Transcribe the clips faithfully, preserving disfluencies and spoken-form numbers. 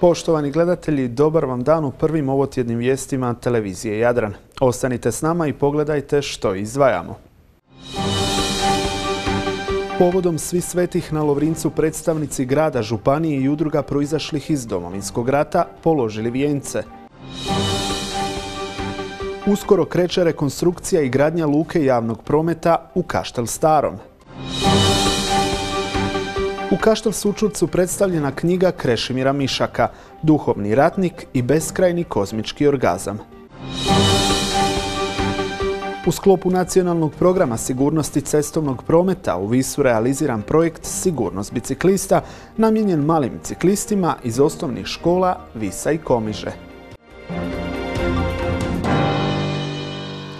Poštovani gledatelji, dobar vam dan u prvim ovotjednim vijestima televizije Jadran. Ostanite s nama i pogledajte što izdvajamo. Povodom Svih svetih na Lovrincu predstavnici grada, županije i udruga proizašlih iz Domovinskog rata položili vijence. Uskoro kreće rekonstrukcija i gradnja luke javnog prometa u Kaštel Starom. U Kaštel Sučurcu predstavljena knjiga Krešimira Mišaka, Duhovni ratnik i beskrajni kozmički orgazam. U sklopu nacionalnog programa sigurnosti cestovnog prometa u Visu realiziran projekt Sigurnost biciklista namijenjen malim biciklistima iz osnovnih škola Visa i Komiže.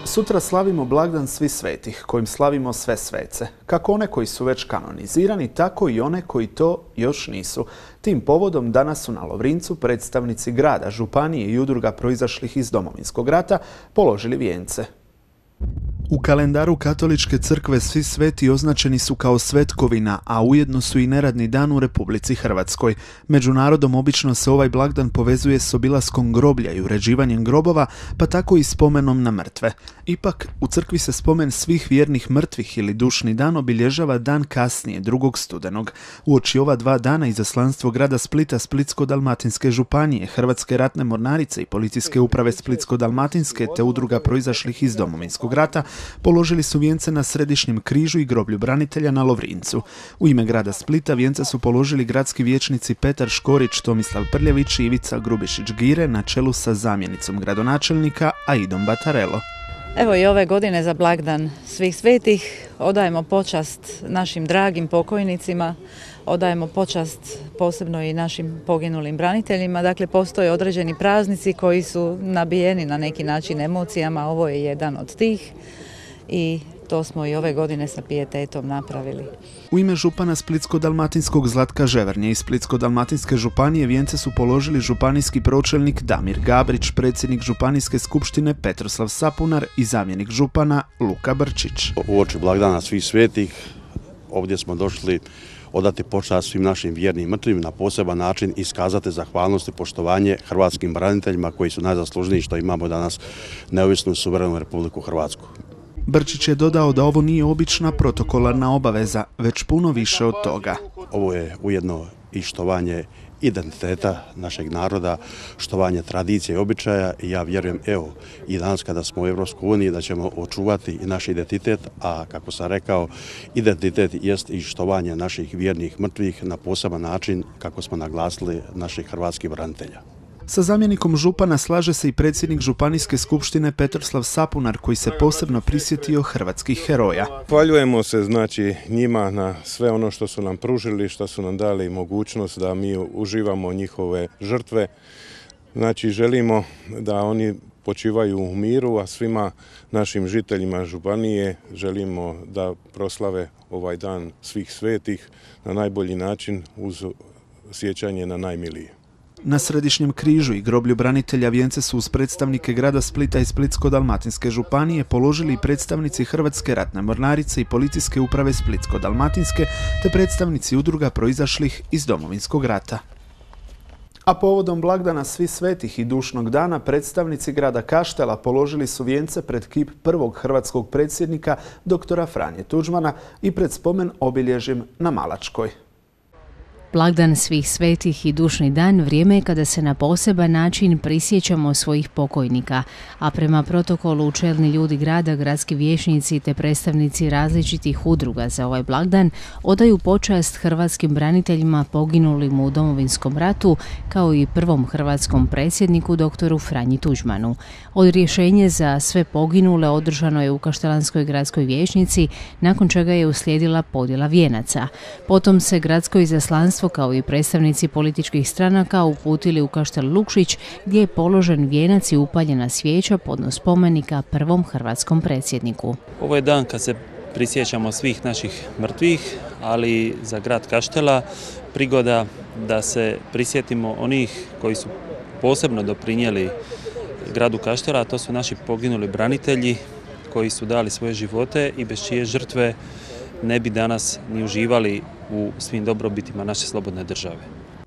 Sutra slavimo blagdan Svih svetih, kojim slavimo sve svece, kako one koji su već kanonizirani, tako i one koji to još nisu. Tim povodom danas su na Lovrincu predstavnici grada, županije i udruga proizašlih iz Domovinskog rata položili vijence. U kalendaru Katoličke crkve Svi sveti označeni su kao svetkovina, a ujedno su i neradni dan u Republici Hrvatskoj. Među narodom obično se ovaj blagdan povezuje s obilaskom groblja i uređivanjem grobova, pa tako i spomenom na mrtve. Ipak, u crkvi se spomen svih vjernih mrtvih ili dušni dan obilježava dan kasnije, drugog studenog. Uoči ova dva dana izaslanstvo grada Splita, Splitsko-dalmatinske županije, Hrvatske ratne mornarice i policijske uprave Splitsko-dalmatinske te udruga proizašlih iz Domovinskog rata položili su vijence na Središnjem križu i groblju branitelja na Lovrincu. U ime grada Splita vijence su položili gradski vijećnici Petar Škorić, Tomislav Prljević i Ivica Grubišić-Gire na čelu sa zamjenicom gradonačelnika Aidom Batarelo. Evo i ove godine za blagdan Svih svetih odajemo počast našim dragim pokojnicima, odajemo počast posebno i našim poginulim braniteljima. Dakle, postoje određeni praznici koji su nabijeni na neki način emocijama, ovo je jedan od tih i to smo i ove godine sa pijetetom napravili. U ime župana Splitsko-dalmatinskog Zlatka Ževernje i Splitsko-dalmatinske županije vijence su položili županijski pročelnik Damir Gabrić, predsjednik županijske skupštine Petroslav Sapunar i zamjenik župana Luka Brčić. Uoči blagdana Svih svetih ovdje smo došli odati počast svim našim vjernim mrtvim, na poseban način iskazati zahvalnost i poštovanje hrvatskim braniteljima koji su najzaslužniji što imamo danas neovisnu suverenu Republiku Hrvatsku. Brčić je dodao da ovo nije obična protokolarna obaveza, već puno više od toga. Ovo je ujedno i štovanje identiteta našeg naroda, štovanje tradicije i običaja i ja vjerujem, evo, i danas kada smo u Europskoj uniji da ćemo očuvati i naš identitet, a kako sam rekao, identitet jest i štovanje naših vjernih mrtvih na poseban način kako smo naglasili naših hrvatskih branitelja. Sa zamjenikom župana slaže se i predsjednik županijske skupštine Petroslav Sapunar, koji se posebno prisjetio hrvatskih heroja. Hvaljujemo se znači njima na sve ono što su nam pružili, što su nam dali mogućnost da mi uživamo njihove žrtve. Znači želimo da oni počivaju u miru, a svima našim žiteljima županije želimo da proslave ovaj dan Svih svetih na najbolji način uz sjećanje na najmilije. Na Središnjem križu i groblju branitelja vijence su uz predstavnike grada Splita i Splitsko-dalmatinske županije položili i predstavnici Hrvatske ratne mornarice i policijske uprave Splitsko-dalmatinske te predstavnici udruga proizašlih iz Domovinskog rata. A povodom blagdana Svih svetih i dušnog dana predstavnici grada Kaštela položili su vijence pred kip prvog hrvatskog predsjednika doktora Franje Tuđmana i pred spomen obilježjem na Malačkoj. Blagdan Svih svetih i dušni dan vrijeme je kada se na poseban način prisjećamo svojih pokojnika, a prema protokolu čelni ljudi grada, gradski vijećnici te predstavnici različitih udruga za ovaj blagdan odaju počast hrvatskim braniteljima poginulim u Domovinskom ratu, kao i prvom hrvatskom predsjedniku doktoru Franji Tuđmanu. Odrješenje za sve poginule održano je u Kaštelanskoj gradskoj vijećnici, nakon čega je uslijedila podjela vijenaca. Potom se gradsko izaslanstvo kao i predstavnici političkih stranaka uputili u Kaštel Lukšić, gdje je položen vijenac i upaljena svijeća podno spomenika prvom hrvatskom predsjedniku. Ovo je dan kad se prisjećamo svih naših mrtvih, ali za grad Kaštela prigoda da se prisjetimo onih koji su posebno doprinijeli gradu Kaštela, a to su naši poginuli branitelji koji su dali svoje živote i bez čije žrtve ne bi danas ni uživali u svim dobrobitima naše slobodne države.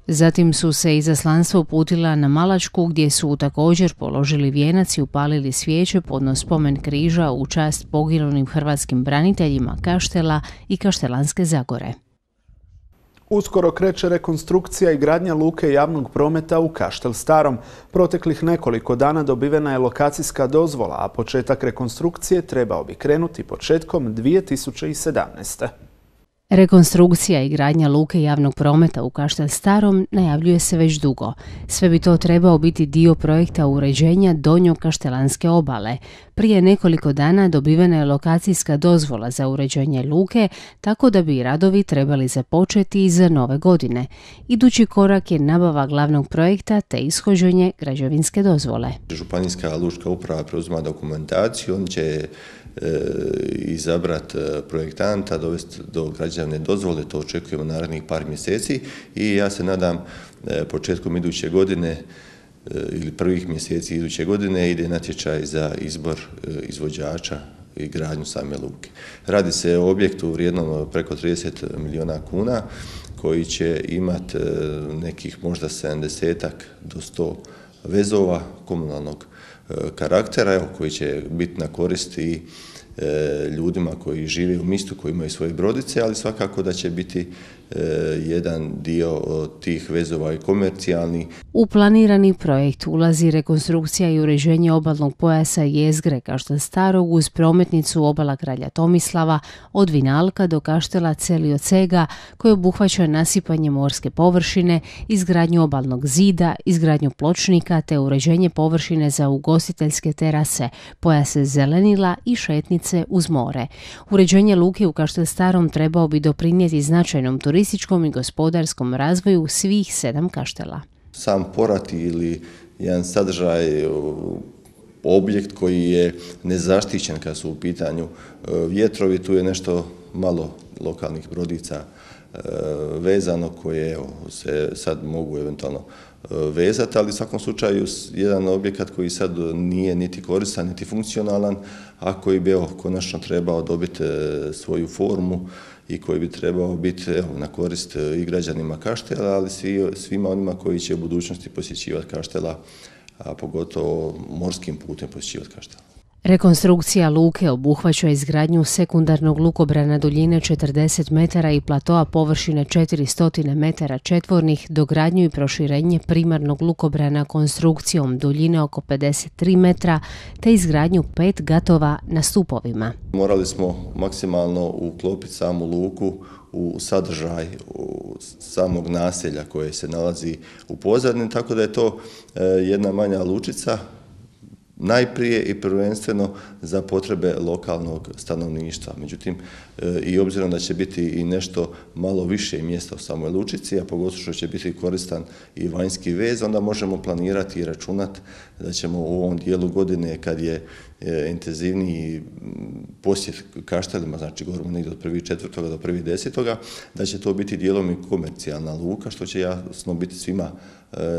Zatim su se izaslanstva uputila na Malačku gdje su također položili vijenac i upalili svijeće podno spomen križa u čast poginulim hrvatskim braniteljima Kaštela i Kaštelanske Zagore. Uskoro kreće rekonstrukcija i gradnja luke javnog prometa u Kaštel Starom. Proteklih nekoliko dana dobivena je lokacijska dozvola, a početak rekonstrukcije trebao bi krenuti početkom dvije tisuće sedamnaeste. Rekonstrukcija i gradnja luke javnog prometa u Kaštel Starom najavljuje se već dugo. Sve bi to trebao biti dio projekta uređenja donjog kaštelanske obale. Prije nekoliko dana dobivena je lokacijska dozvola za uređenje luke, tako da bi radovi trebali započeti za nove godine. Idući korak je nabava glavnog projekta te ishođenje građevinske dozvole. Županijska lučka uprava preuzima dokumentaciju, on će izabrati projektanta, dovesti do građevne dozvole, to očekujemo narednih par mjeseci i ja se nadam početkom iduće godine ili prvih mjeseci iduće godine ide natječaj za izbor izvođača i gradnju same luke. Radi se o objektu vrijednom preko trideset milijuna kuna koji će imati nekih možda sedamdesetak do sto vezova komunalnog karaktera, evo, koji će biti na korist i e, ljudima koji žive u mistu, koji imaju svoje brodice, ali svakako da će biti e, jedan dio tih vezova i komercijalni. U planirani projekt ulazi rekonstrukcija i uređenje obalnog pojasa jezgre Kaštel Starog uz prometnicu obala Kralja Tomislava od Vinalka do Kaštela Celiocega koji obuhvaća nasipanje morske površine, izgradnju obalnog zida, izgradnju pločnika te uređenje površine za ugostiteljske terase, pojase zelenila i šetnice uz more. Uređenje luke u Kaštel Starom trebao bi doprinijeti značajnom turističkom i gospodarskom razvoju svih sedam kaštela. Sam porat ili jedan sadržaj, objekt koji je nezaštićen kad su u pitanju vjetrovi, tu je nešto malo lokalnih brodica vezano koje evo, se sad mogu eventualno vezati, ali u svakom slučaju jedan objekat koji sad nije niti koristan, niti funkcionalan, a koji bi evo, konačno trebao dobiti svoju formu i koji bi trebao biti evo, na korist i građanima Kaštela, ali svi, svima onima koji će u budućnosti posjećivati Kaštela, a pogotovo morskim putem posjećivati Kaštela. Rekonstrukcija luke obuhvaća izgradnju sekundarnog lukobrana duljine četrdeset metara i platoa površine četiristo metara četvornih, dogradnju i proširenje primarnog lukobrana konstrukcijom duljine oko pedeset tri metra, te izgradnju pet gatova na stupovima. Morali smo maksimalno uklopiti samu luku u sadržaj u samog naselja koje se nalazi u pozadini, tako da je to jedna manja lučica, najprije i prvenstveno za potrebe lokalnog stanovništva. Međutim, i obzirom da će biti i nešto malo više mjesta u samoj lučici, a pogotovo što će biti koristan i vanjski vez, onda možemo planirati i računati da ćemo u ovom dijelu godine, kad je intenzivniji posjet Kaštelima, znači govorimo negdje od prvog četvrtoga do prvog desetoga, da će to biti dijelom i komercijalna luka, što će jasno biti svima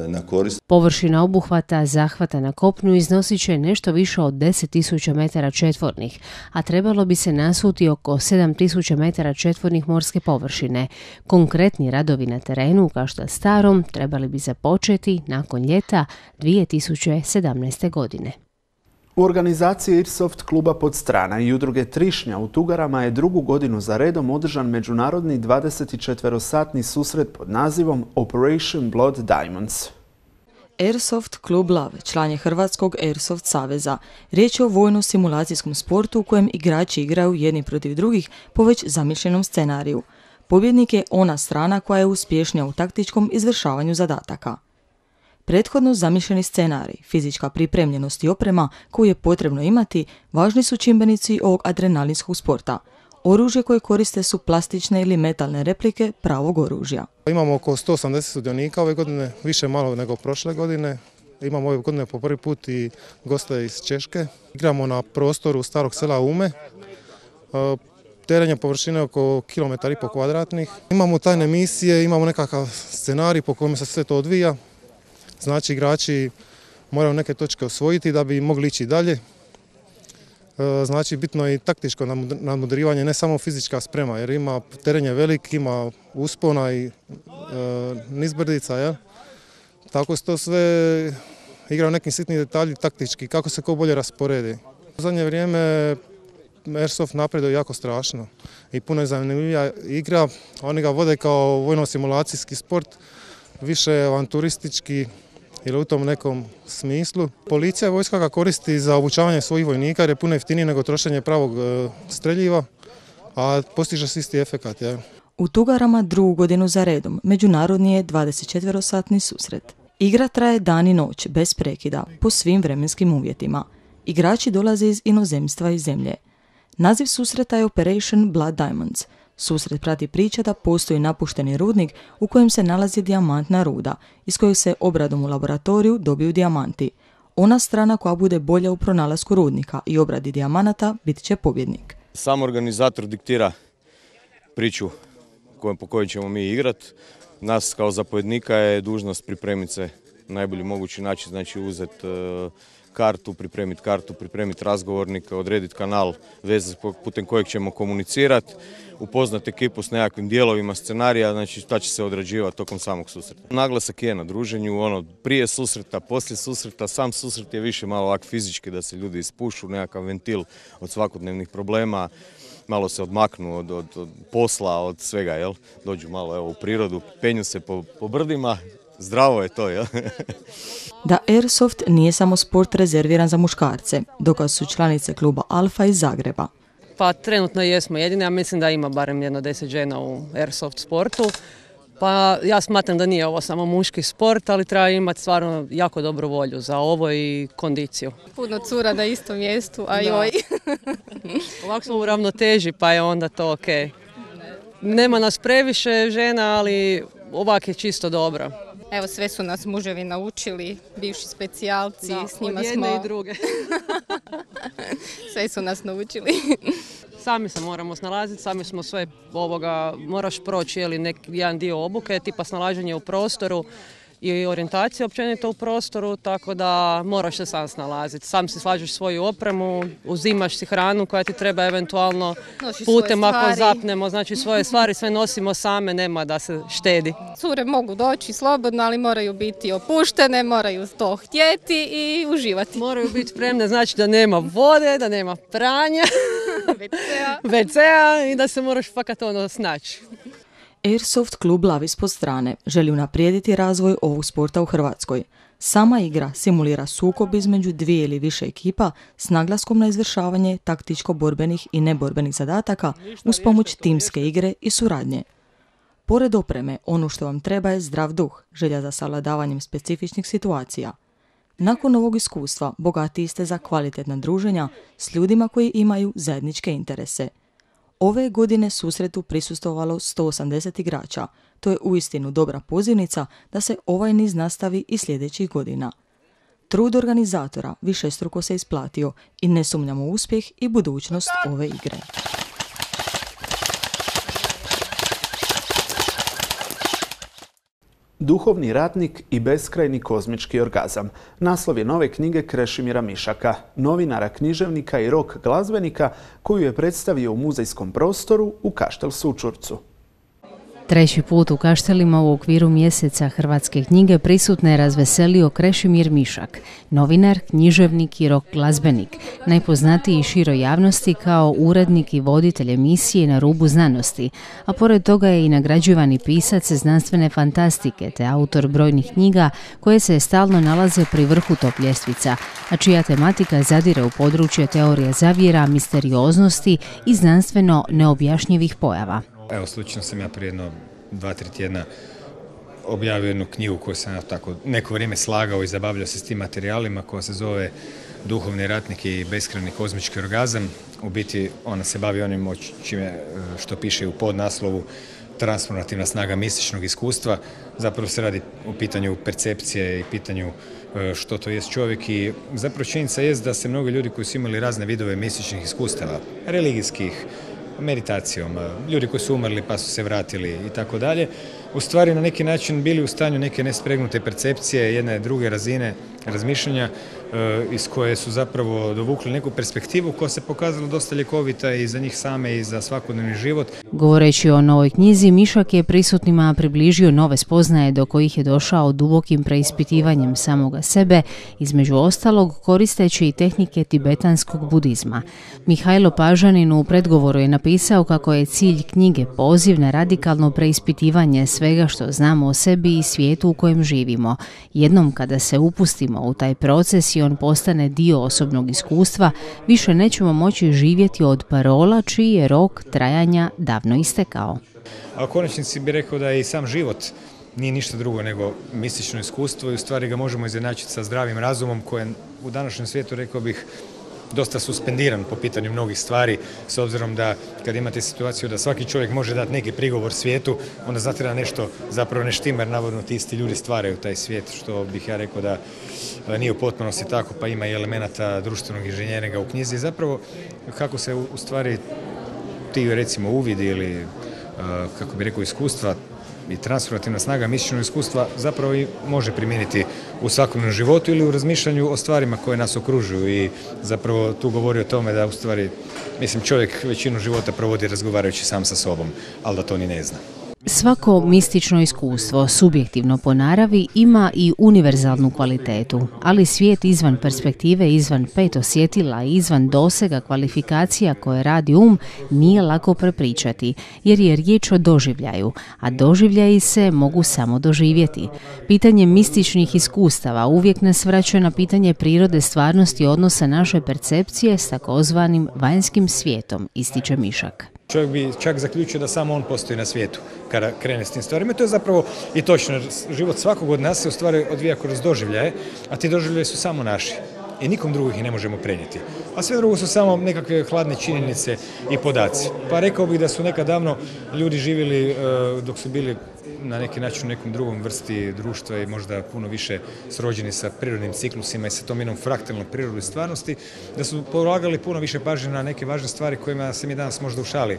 na korist. Površina obuhvata zahvata na kopnu iznosit će nešto više od deset tisuća metara četvornih, a trebalo bi se nasuti oko sedam tisuća metara četvornih morske površine. Konkretni radovi na terenu u Kaštel Starom trebali bi započeti nakon ljeta dvije tisuće sedamnaeste. godine. U organizaciji Airsoft kluba Podstrana i udruge Trišnja u Tugarama je drugu godinu za redom održan međunarodni dvadesetčetverosatni susret pod nazivom Operation Blood Diamonds. Airsoft klub Lav član je Hrvatskog Airsoft saveza. Riječ je o vojno-simulacijskom sportu u kojem igrači igraju jedni protiv drugih po već zamišljenom scenariju. Pobjednik je ona strana koja je uspješnija u taktičkom izvršavanju zadataka. Prethodno zamišljeni scenarij, fizička pripremljenost i oprema koju je potrebno imati, važni su čimbenici ovog adrenalinskog sporta. Oružje koje koriste su plastične ili metalne replike pravog oružja. Imamo oko sto osamdeset sudionika ove godine, više malo nego prošle godine. Imamo ove godine po prvi put i goste iz Češke. Igramo na prostoru starog sela Ume. Teren je površine oko kilometar i pol kvadratnih. Imamo tajne misije, imamo nekakav scenarij po kojem se sve to odvija. Znači igrači moraju neke točke osvojiti da bi mogli ići dalje. Znači bitno je i taktičko nadmudrivanje, ne samo fizička sprema, jer ima teren je velik, ima uspona i e, nizbrdica, jel? Tako se to sve igra u nekim sitnim detalji taktički, kako se ko bolje rasporedi. U zadnje vrijeme Airsoft napreduje jako strašno i puno je zanimljivija igra, oni ga vode kao vojno-simulacijski sport, više avanturistički ili u tom nekom smislu. Policija i vojska ga koristi za obučavanje svojih vojnika jer je puno jeftinije nego trošenje pravog streljiva, a postiže se isti efekat. Ja. U Tugarama drugu godinu za redom međunarodni je dvadesetčetverosatni susret. Igra traje dan i noć, bez prekida, po svim vremenskim uvjetima. Igrači dolaze iz inozemstva i zemlje. Naziv susreta je Operation Blood Diamonds. Susret prati priča da postoji napušteni rudnik u kojem se nalazi dijamantna ruda, iz kojeg se obradom u laboratoriju dobiju dijamanti. Ona strana koja bude bolja u pronalasku rudnika i obradi dijamanata bit će pobjednik. Sam organizator diktira priču po kojoj ćemo mi igrati. Nas kao zapovjednika je dužnost pripremiti se na najbolji mogući način, znači uzeti uh, kartu, pripremiti kartu, pripremiti razgovornik, odrediti kanal veze putem kojeg ćemo komunicirati, upoznati ekipu s nekakvim dijelovima scenarija, znači šta će se odrađivati tokom samog susreta. Naglasak je na druženju, ono prije susreta, poslije susreta, sam susret je više malo ovak fizički da se ljudi ispušu, nekakav ventil od svakodnevnih problema, malo se odmaknu od, od, od posla, od svega, jel? Dođu malo evo, u prirodu, penju se po, po brdima, zdravo je to, jel? Da Airsoft nije samo sport rezerviran za muškarce, dokaz su članice kluba Alfa iz Zagreba. Pa trenutno jesmo jedine, a mislim da ima barem jedno deset žena u Airsoft sportu. Pa ja smatram da nije ovo samo muški sport, ali treba imati stvarno jako dobru volju za ovo i kondiciju. Puno cura na istom mjestu, a joj. Ovako smo u ravnoteži, pa je onda to ok. Nema nas previše žena, ali ovak je čisto dobro. Evo, sve su nas muževi naučili, bivši specijalci, da, s njima od jedne smo... i druge. Sve su nas naučili. Sami se moramo snalaziti, sami smo sve ovoga, moraš proći jeli, nek, jedan dio obuke, tipa snalaženje u prostoru i orijentacija općenito u prostoru, tako da moraš se sam snalaziti. Sam si slažeš svoju opremu, uzimaš si hranu koja ti treba eventualno Noši putem ako zapnemo, znači svoje stvari sve nosimo same, nema da se štedi. Cure mogu doći slobodno, ali moraju biti opuštene, moraju to htjeti i uživati. Moraju biti spremne, znači da nema vode, da nema pranja, ve ce a i da se moraš fakat ono snaći. Airsoft klub Lav ispod strane želi unaprijediti razvoj ovog sporta u Hrvatskoj. Sama igra simulira sukob između dvije ili više ekipa s naglaskom na izvršavanje taktičko-borbenih i neborbenih zadataka uz pomoć timske igre i suradnje. Pored opreme, ono što vam treba je zdrav duh, želja za savladavanjem specifičnih situacija. Nakon ovog iskustva bogatiji ste za kvalitetna druženja s ljudima koji imaju zajedničke interese. Ove godine susretu prisustvovalo sto osamdeset igrača. To je uistinu dobra pozivnica da se ovaj niz nastavi i sljedećih godina. Trud organizatora višestruko se isplatio i ne sumnjamo u uspjeh i budućnost ove igre. Duhovni ratnik i beskrajni kozmički orgazam. Naslov je nove knjige Krešimira Mišaka, novinara, književnika i rock glazbenika koju je predstavio u muzejskom prostoru u Kaštel Sučurcu. Treći put u Kaštelima u okviru mjeseca hrvatske knjige prisutne je razveselio Krešimir Mišak, novinar, književnik i rock glazbenik, najpoznatiji široj javnosti kao urednik i voditelj emisije Na rubu znanosti, a pored toga je i nagrađivani pisac znanstvene fantastike te autor brojnih knjiga koje se stalno nalaze pri vrhu top ljestvica, a čija tematika zadire u područje teorije zavjera, misterioznosti i znanstveno neobjašnjivih pojava. Evo, slučajno sam ja prije jedno dva, tri tjedna objavio jednu knjigu koju sam ja tako neko vrijeme slagao i zabavljao se s tim materijalima, koja se zove Duhovni ratnik i beskrajni kozmički orgazam. U biti ona se bavi onim čime, što piše u podnaslovu transformativna snaga mističnog iskustva. Zapravo se radi o pitanju percepcije i pitanju što to jest čovjek i zapravo činjenica jest da se mnogi ljudi koji su imali razne vidove mističnih iskustava, religijskih, meditacijom, ljudi koji su umrli pa su se vratili i tako dalje, u stvari na neki način bili u stanju neke nespregnute percepcije, jedne druge razine razmišljanja iz koje su zapravo dovukli neku perspektivu koja se pokazala dosta ljekovita i za njih same i za svakodnevni život. Govoreći o novoj knjizi, Mišak je prisutnima približio nove spoznaje do kojih je došao dubokim preispitivanjem samoga sebe, između ostalog koristeći i tehnike tibetanskog budizma. Mihajlo Pažanin u predgovoru je napisao kako je cilj knjige poziv na radikalno preispitivanje svega što znamo o sebi i svijetu u kojem živimo. Jednom kada se upustimo u taj proces i on postane dio osobnog iskustva, više nećemo moći živjeti od parola čiji je rok trajanja davno istekao. A u konačnici bih rekao da je i sam život nije ništa drugo nego mistično iskustvo i u stvari ga možemo izjednačiti sa zdravim razumom koje u današnjem svijetu, rekao bih, dosta suspendiran po pitanju mnogih stvari, s obzirom da kad imate situaciju da svaki čovjek može dati neki prigovor svijetu, onda znate da nešto zapravo ne štima, jer navodno ti isti ljudi stvaraju taj svijet, što bih ja rekao da nije u potpunosti tako, pa ima i elemenata društvenog inženjeringa u knjizi. Zapravo kako se u stvari ti recimo uvidi ili kako bi rekao iskustva i transformativna snaga mističnog iskustva zapravo i može primijeniti u svakodnevnom životu ili u razmišljanju o stvarima koje nas okružuju i zapravo tu govori o tome da u stvari, mislim, čovjek većinu života provodi razgovarajući sam sa sobom, ali da to ni ne zna. Svako mistično iskustvo, subjektivno po naravi, ima i univerzalnu kvalitetu, ali svijet izvan perspektive, izvan pet osjetila i izvan dosega kvalifikacija koje radi um nije lako prepričati, jer je riječ o doživljaju, a doživljaji se mogu samo doživjeti. Pitanje mističnih iskustava uvijek nas vraća na pitanje prirode stvarnosti odnosa naše percepcije s takozvanim vanjskim svijetom, ističe Mišak. Čovjek bi čak zaključio da samo on postoji na svijetu kada krene s tim stvarima. To je zapravo i točno. Život svakog od nas se u stvari odvija kroz doživljaje, a ti doživljaje su samo naši. I nikom drugih ih ne možemo prenijeti. A sve drugo su samo nekakve hladne činjenice i podaci. Pa rekao bih da su nekad davno ljudi živjeli dok su bili na neki način u nekom drugom vrsti društva i možda puno više srođeni sa prirodnim ciklusima i sa tom jednom fraktalnom prirodom stvarnosti, da su polagali puno više pažnje na neke važne stvari kojima se mi danas možda u šali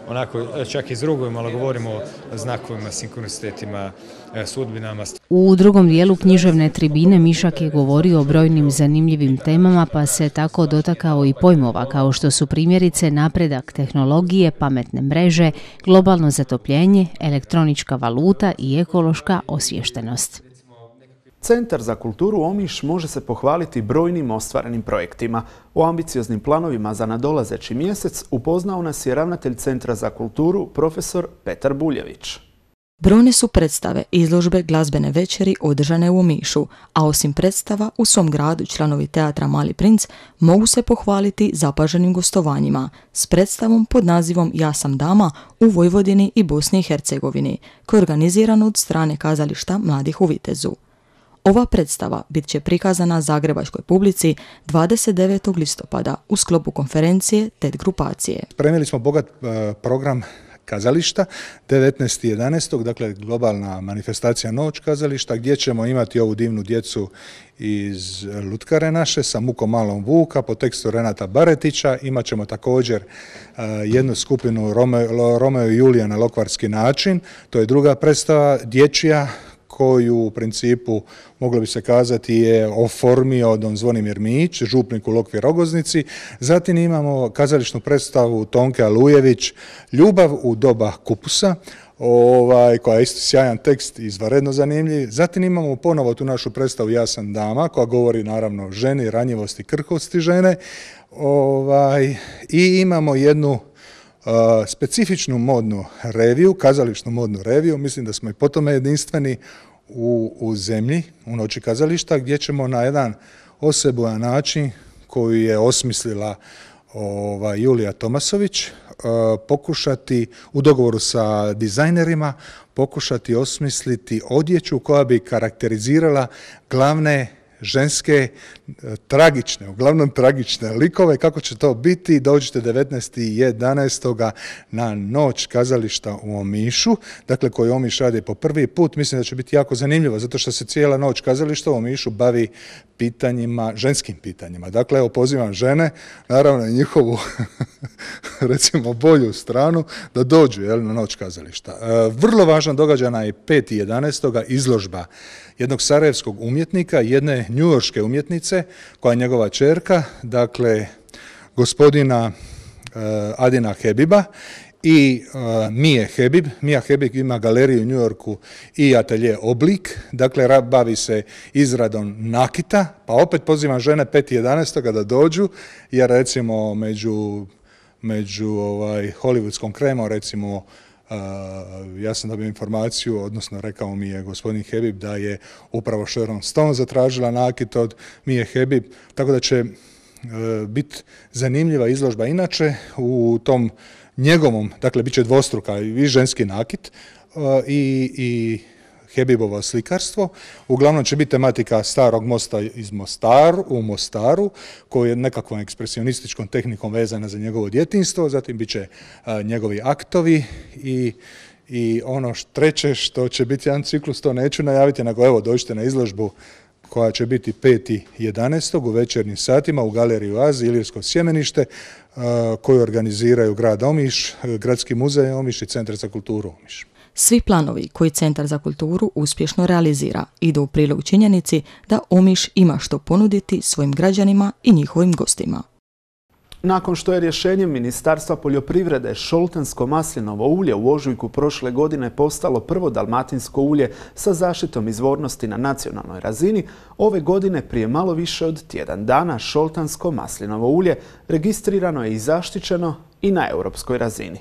onako čak izrugujemo, ali govorimo o znakovima, sinkronicitetima, sudbinama. U drugom dijelu književne tribine Mišak je govorio o brojnim zanimljivim temama, pa se tako dotakao i pojmova kao što su primjerice napredak tehnologije, pametne mreže, globalno zatopljenje, elektronička valuta i ekološka osviještenost. Centar za kulturu Omiš može se pohvaliti brojnim ostvarenim projektima. O ambicioznim planovima za nadolazeći mjesec upoznao nas je ravnatelj Centra za kulturu, profesor Petar Buljević. Brojne su predstave i izložbe glazbene večeri održane u Omišu, a osim predstava u svom gradu članovi teatra Mali princ mogu se pohvaliti zapaženim gostovanjima s predstavom pod nazivom Ja sam dama u Vojvodini i Bosni i Hercegovini, koja je organizirana od strane kazališta Mladih u Vitezu. Ova predstava bit će prikazana zagrebačkoj publici dvadeset devetog listopada u sklopu konferencije T E D grupacije. Spremili smo bogat program kazališta devetnaestog jedanaestog dakle globalna manifestacija Noć kazališta, gdje ćemo imati ovu divnu djecu iz Lutkare naše sa Mukom malom Vuka po tekstu Renata Baretića. Imat ćemo također uh, jednu skupinu Romeo, Romeo i Julija na lokvarski način. To je druga predstava dječja koju u principu, moglo bi se kazati, je oformio don Zvonimir Mić, župnik u Lokvi Rogoznici. Zatim imamo kazališnu predstavu Tonke Alujević, Ljubav u doba kupusa, ovaj, koja je isto sjajan tekst, izvanredno zanimljiv. Zatim imamo ponovo tu našu predstavu Ja sam dama, koja govori naravno o ženi, ranjivosti, krhkosti žene. Ovaj, I imamo jednu Uh, specifičnu modnu reviju, kazališnu modnu reviju, mislim da smo i po tome jedinstveni u, u zemlji, u Noći kazališta, gdje ćemo na jedan osebujan način koju je osmislila ova, Julija Tomasović, uh, pokušati u dogovoru sa dizajnerima, pokušati osmisliti odjeću koja bi karakterizirala glavne ženske, tragične, uglavnom tragične likove. Kako će to biti? Dođite devetnaestog jedanaestog na noć kazališta u Omišu, dakle koji Omiš radi po prvi put. Mislim da će biti jako zanimljivo, zato što se cijela noć kazališta u Omišu bavi pitanjima, ženskim pitanjima. Dakle, evo pozivam žene, naravno i njihovu recimo bolju stranu, da dođu jel, na noć kazališta. E, vrlo važan događaj je petog jedanaestog izložba jednog sarajevskog umjetnika, jedne njujorške umjetnice, koja je njegova ćerka, dakle, gospodina e, Adina Hebiba i uh, Mije Hebib. Mija Hebib ima galeriju u New Yorku i atelje Oblik, dakle bavi se izradom nakita, pa opet pozivam žene petog jedanaestog da dođu, jer recimo među, među ovaj, hollywoodskom kremom, recimo uh, ja sam dobio informaciju, odnosno rekao mi je gospodin Hebib da je upravo Sharon Stone zatražila nakit od Mije Hebib, tako da će uh, biti zanimljiva izložba. Inače u tom njegovom, dakle, bit će dvostruka i ženski nakit uh, i, i Hebibovo slikarstvo. Uglavnom će biti tematika starog mosta iz Mostaru, u Mostaru, koji je nekakvom ekspresionističkom tehnikom vezana za njegovo djetinjstvo, zatim bit će uh, njegovi aktovi i i ono treće što će biti jedan ciklus, to neću najaviti, nego evo dođite na izložbu koja će biti petog jedanaestog u večernjim satima u galeriji Oazi, Ilirsko sjemenište, koju organiziraju grad Omiš, Gradski muzej Omiš i Centar za kulturu Omiš. Svi planovi koji Centar za kulturu uspješno realizira idu u prilog činjenici da Omiš ima što ponuditi svojim građanima i njihovim gostima. Nakon što je rješenjem Ministarstva poljoprivrede šoltansko maslinovo ulje u ožujku prošle godine postalo prvo dalmatinsko ulje sa zaštitom izvornosti na nacionalnoj razini, ove godine prije malo više od tjedan dana šoltansko maslinovo ulje registrirano je i zaštićeno i na europskoj razini.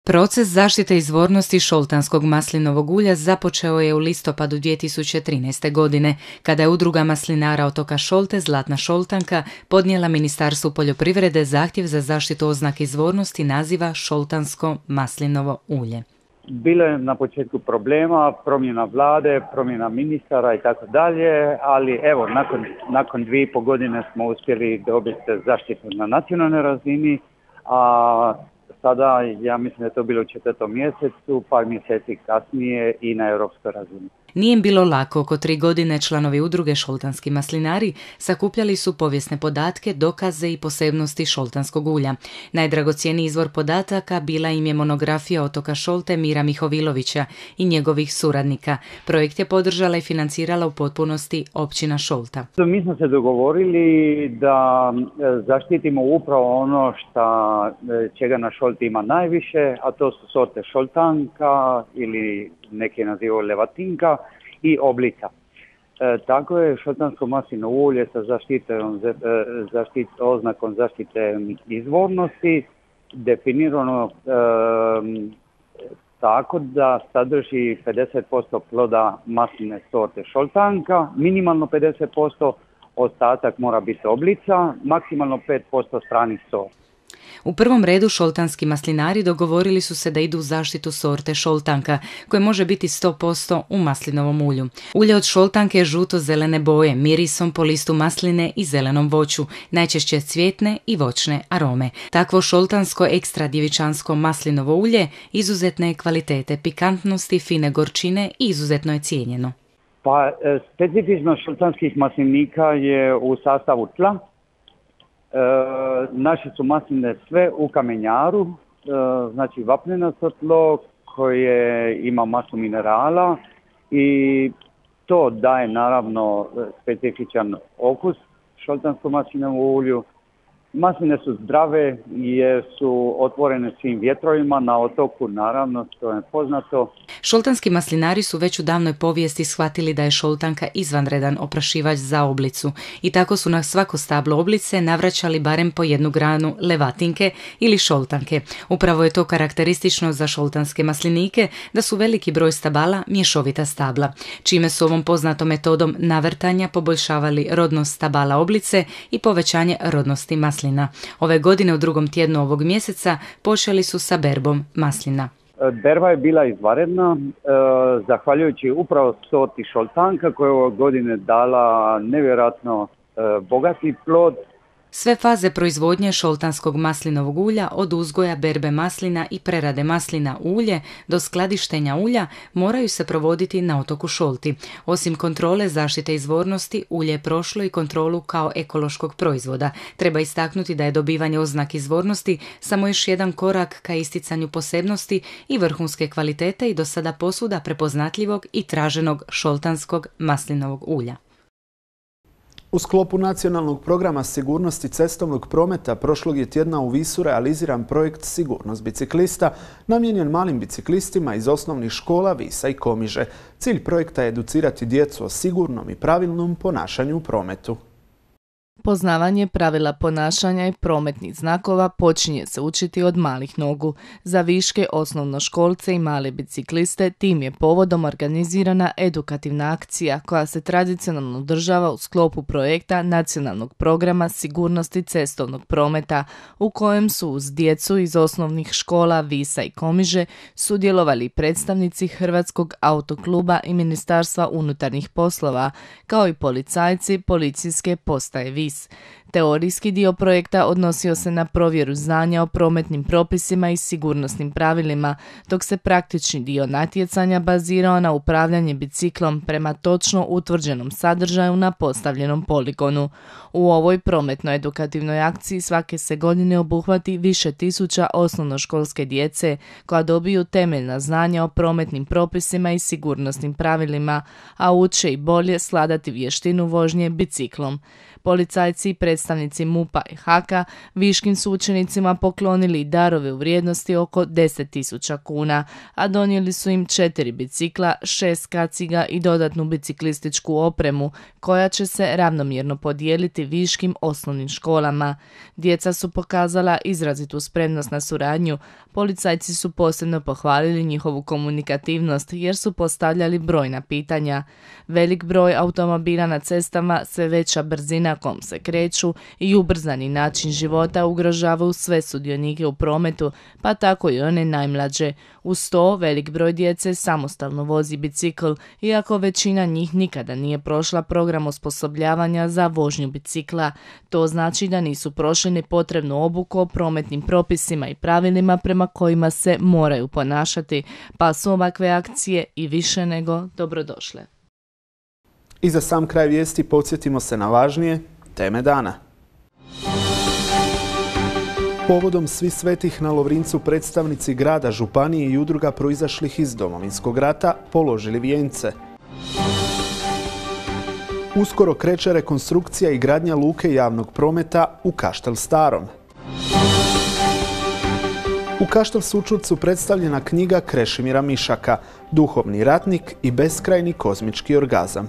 Proces zaštite izvornosti šoltanskog maslinovog ulja započeo je u listopadu dvije tisuće trinaeste. godine, kada je udruga maslinara otoka Šolte Zlatna šoltanka podnijela Ministarstvu poljoprivrede zahtjev za zaštitu oznake izvornosti naziva šoltansko maslinovo ulje. Bilo je na početku problema, promjena vlade, promjena ministara i tako dalje, ali evo, nakon, nakon dvije i pol godine smo uspjeli dobiti zaštitu na nacionalnoj razini, a sada, ja mislim da je to bilo u četvrtom mjesecu, par mjeseci kasnije i na europskoj razini. Nije im bilo lako. Oko tri godine članovi udruge Šoltanski maslinari sakupljali su povijesne podatke, dokaze i posebnosti šoltanskog ulja. Najdragocjeniji izvor podataka bila im je monografija otoka Šolte Mira Mihovilovića i njegovih suradnika. Projekt je podržala i financirala u potpunosti općina Šolta. Mi smo se dogovorili da zaštitimo upravo ono šta, čega na Šolti ima najviše, a to su sorte šoltanka ili neke nazivaju levatinka i oblica. E, tako je šoltansko maslinovo ulje sa zaštitom, zaštit, oznakom zaštite izvornosti definirano e, tako da sadrži pedeset posto ploda masline sorte šoltanka, minimalno pedeset posto, ostatak mora biti oblica, maksimalno pet posto stranih sorti. U prvom redu šoltanski maslinari dogovorili su se da idu u zaštitu sorte šoltanka, koje može biti sto posto u maslinovom ulju. Ulje od šoltanke je žuto-zelene boje, mirisom po listu masline i zelenom voću, najčešće cvjetne i voćne arome. Takvo šoltansko ekstra djevičansko maslinovo ulje izuzetne je kvalitete, pikantnosti, fine gorčine i izuzetno je cijenjeno. Pa, specifičnost šoltanskih maslinika je u sastavu tla. E, naše su masline sve u kamenjaru, e, znači vapnenasto tlo koje ima masu minerala i to daje naravno specifičan okus šoltanskom maslinovom ulju. Masline su zdrave jer su otvorene svim vjetrovima na otoku, naravno, to je poznato. Šoltanski maslinari su već u davnoj povijesti shvatili da je šoltanka izvanredan oprašivač za oblicu i tako su na svako stablo oblice navraćali barem po jednu granu levatinke ili šoltanke. Upravo je to karakteristično za šoltanske maslinike da su veliki broj stabala mješovita stabla, čime su ovom poznatom metodom navrtanja poboljšavali rodnost stabala oblice i povećanje rodnosti maslina. Ove godine u drugom tjednu ovog mjeseca počeli su sa berbom maslina. Berba je bila izvanredna, zahvaljujući upravo sorti šoltanka koja je ove godine dala nevjerojatno bogati plod. Sve faze proizvodnje šoltanskog maslinovog ulja, od uzgoja berbe maslina i prerade maslina u ulje do skladištenja ulja, moraju se provoditi na otoku Šolti. Osim kontrole zaštite izvornosti, ulje je prošlo i kontrolu kao ekološkog proizvoda. Treba istaknuti da je dobivanje oznake izvornosti samo još jedan korak ka isticanju posebnosti i vrhunske kvalitete i do sada posvuda prepoznatljivog i traženog šoltanskog maslinovog ulja. U sklopu nacionalnog programa sigurnosti cestovnog prometa prošlog je tjedna u Visu realiziran projekt Sigurnost biciklista namijenjen malim biciklistima iz osnovnih škola Visa i Komiže. Cilj projekta je educirati djecu o sigurnom i pravilnom ponašanju u prometu. Poznavanje pravila ponašanja i prometnih znakova počinje se učiti od malih nogu. Za viške, osnovnoškolce i male bicikliste tim je povodom organizirana edukativna akcija koja se tradicionalno održava u sklopu projekta nacionalnog programa sigurnosti cestovnog prometa, u kojem su uz djecu iz osnovnih škola Visa i Komiže sudjelovali predstavnici Hrvatskog autokluba i Ministarstva unutarnjih poslova, kao i policajci policijske postaje Vis. Teorijski dio projekta odnosio se na provjeru znanja o prometnim propisima i sigurnosnim pravilima, dok se praktični dio natjecanja bazirao na upravljanje biciklom prema točno utvrđenom sadržaju na postavljenom poligonu. U ovoj prometno-edukativnoj akciji svake se godine obuhvati više tisuća osnovnoškolske djece koja dobiju temeljna znanja o prometnim propisima i sigurnosnim pravilima, a uče i bolje sladati vještinu vožnje biciklom. Policajci i predstavnici MUP-a i Haka viškim su učenicima poklonili darove u vrijednosti oko deset tisuća kuna, a donijeli su im četiri bicikla, šest kaciga i dodatnu biciklističku opremu, koja će se ravnomjerno podijeliti viškim osnovnim školama. Djeca su pokazala izrazitu spremnost na suradnju. Policajci su posebno pohvalili njihovu komunikativnost jer su postavljali brojna pitanja. Velik broj automobila na cestama, sve veća brzina kom se kreću i ubrzani način života ugrožavaju sve sudionike u prometu, pa tako i one najmlađe. Uz to, velik broj djece samostalno vozi bicikl, iako većina njih nikada nije prošla program osposobljavanja za vožnju bicikla. To znači da nisu prošli ni potrebnu obuku o prometnim propisima i pravilima prema kojima se moraju ponašati, pa su ovakve akcije i više nego dobrodošle. I za sam kraj vijesti podsjetimo se na važnije teme dana. Povodom Svih svetih na Lovrincu predstavnici grada, županije i udruga proizašlih iz Domovinskog rata položili vijence. Uskoro kreće rekonstrukcija i gradnja luke javnog prometa u Kaštel Starom. U Kaštel Sučurcu predstavljena knjiga Krešimira Mišaka, Duhovni ratnik i beskrajni kozmički orgazam.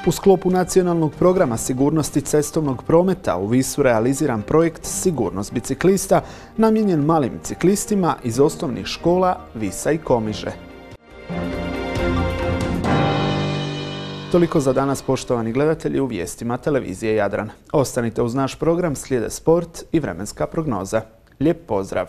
U sklopu nacionalnog programa sigurnosti cestovnog prometa u Visu realiziran projekt Sigurnost biciklista namijenjen malim biciklistima iz osnovnih škola Visa i Komiže. Toliko za danas, poštovani gledatelji, u vijestima televizije Jadran. Ostanite uz naš program, slijede sport i vremenska prognoza. Lijep pozdrav!